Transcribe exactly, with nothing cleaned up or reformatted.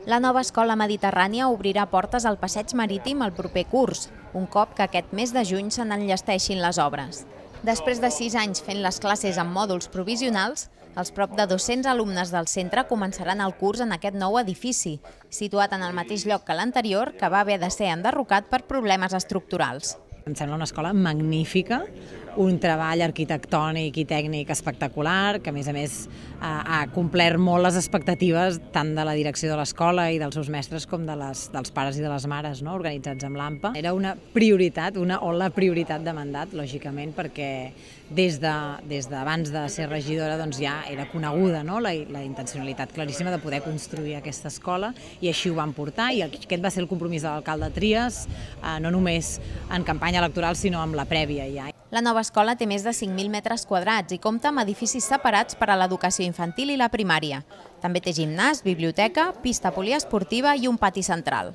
La nova escola mediterrània obrirà portes al passeig marítim el proper curs, un cop que aquest mes de juny se n'enllesteixin les obres. Després de sis anys fent les classes en mòduls provisionals, els prop de dos-cents alumnes del centre començaran el curs en aquest nou edifici, situat en el mateix lloc que l'anterior, que va haver de ser enderrocat per problemes estructurals. Em sembla una escola magnífica, un treball arquitectònic i tècnic espectacular, que a més a més ha complert molt les expectatives tant de la direcció de l'escola i dels seus mestres com de les, dels pares i de les mares, no?, organitzats amb l'A M P A. Era una prioritat, una o la prioritat de mandat, lògicament, perquè des de, des d'abans de ser regidora doncs ja era coneguda, no?, la, la intencionalitat claríssima de poder construir aquesta escola, i així ho van portar, i aquest va ser el compromís de l'alcalde Trias, eh, no només en campanya electoral, sinó amb la prèvia ja. La nova escola té més de cinc mil metres quadrats i compta amb edificis separats per a l'educació infantil i la primària. També té gimnàs, biblioteca, pista poliesportiva i un pati central.